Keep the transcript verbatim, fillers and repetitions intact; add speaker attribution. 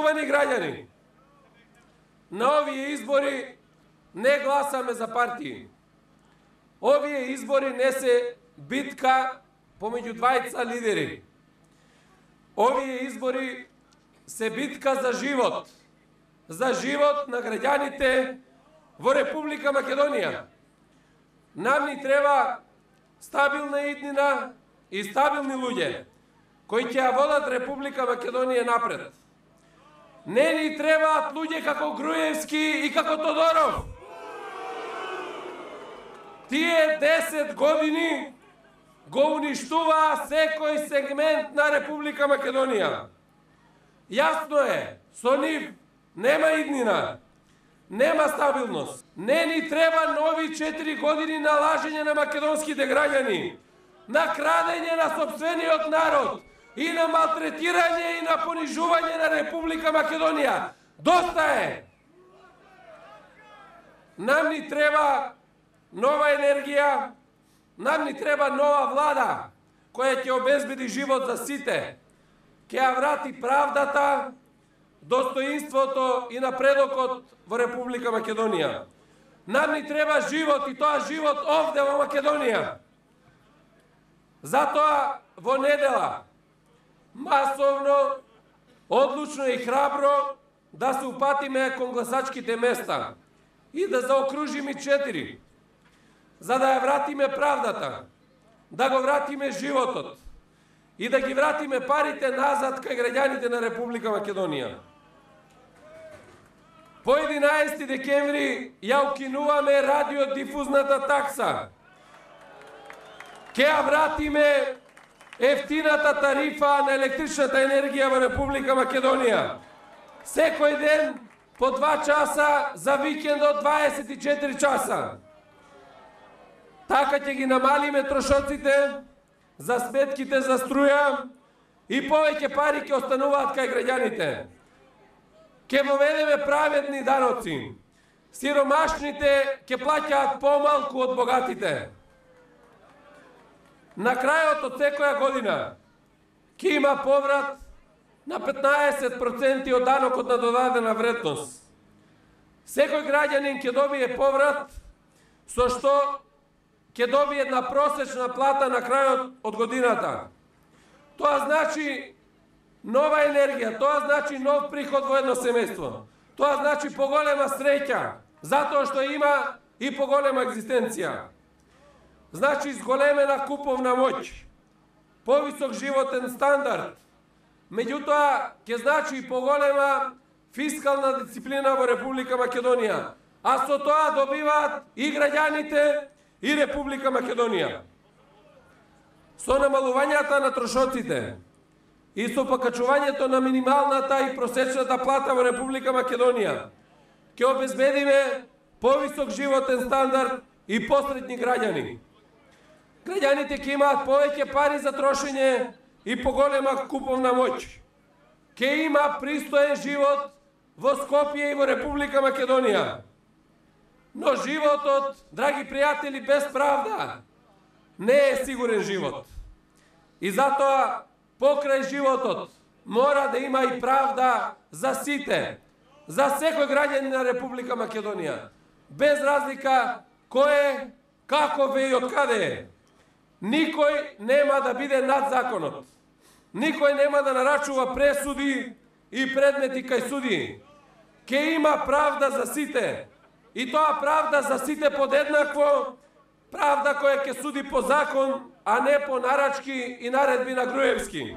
Speaker 1: Почитувани граѓани, на овие избори не гласаме за партии. Овие избори не се битка помеѓу двајца лидери. Овие избори се битка за живот. За живот на граѓаните во Република Македонија. Нам ни треба стабилна иднина и стабилни луѓе кои ќе ја водат Република Македонија напред. Не ни требаат луѓе како Груевски и како Тодоров. Тие десет години го уништуваа секој сегмент на Република Македонија. Јасно е, со нив нема иднина, нема стабилност. Не ни треба нови четири години на лажење на македонските граѓани, на крадење на сопствениот народ и на малтретирање и на понижување на Република Македонија. Доста е! Нам ни треба нова енергија, нам ни треба нова влада која ќе обезбеди живот за сите, ќе ја врати правдата, достоинството и напредокот во Република Македонија. Нам ни треба живот и тоа живот овде во Македонија. Затоа во недела масовно, одлучно и храбро да се упатиме кон гласачките места и да заокружиме четири, за да ја вратиме правдата, да го вратиме животот и да ги вратиме парите назад кај граѓаните на Република Македонија. По единаесети декември ја укинуваме радиодифузната такса. Ке ја вратиме ефтината тарифа на електричната енергија во Република Македонија. Секој ден по два часа, за викендот дваесет и четири часа. Така ќе ги намалиме трошоците за сметките за струја и повеќе пари ќе остануваат кај граѓаните. Ке воведеме праведни даноци. Сиромашните ќе плаќаат помалку од богатите. На крајот од секоја година ќе има поврат на петнаесет проценти од данокот на додадена вредност. Секој граѓанин ќе добие поврат со што ќе добие една просечна плата на крајот од годината. Тоа значи нова енергија, тоа значи нов приход во едно семејство. Тоа значи поголема среќа, затоа што има и поголема екзистенција. Значи зголемена куповна моќ, повисок животен стандард, меѓутоа ќе значи и поголема фискална дисциплина во Република Македонија, а со тоа добиваат и граѓаните и Република Македонија. Со намалувањата на трошоците и со покачувањето на минималната и просечната плата во Република Македонија ќе обезбедиме повисок животен стандард и посредни граѓани. Граѓаните ќе имаат повеќе пари за трошење и поголема куповна моќ. Ќе има пристоен живот во Скопје и во Република Македонија. Но животот, драги пријатели, без правда не е сигурен живот. И затоа покрај животот мора да има и правда за сите, за секој граѓанин на Република Македонија, без разлика кој е, каков е и од каде е. Никој нема да биде над законот. Никој нема да нарачува пресуди и предмети кај суди. Ке има правда за сите. И тоа правда за сите подеднакво, правда која ќе суди по закон, а не по нарачки и наредби на Груевски.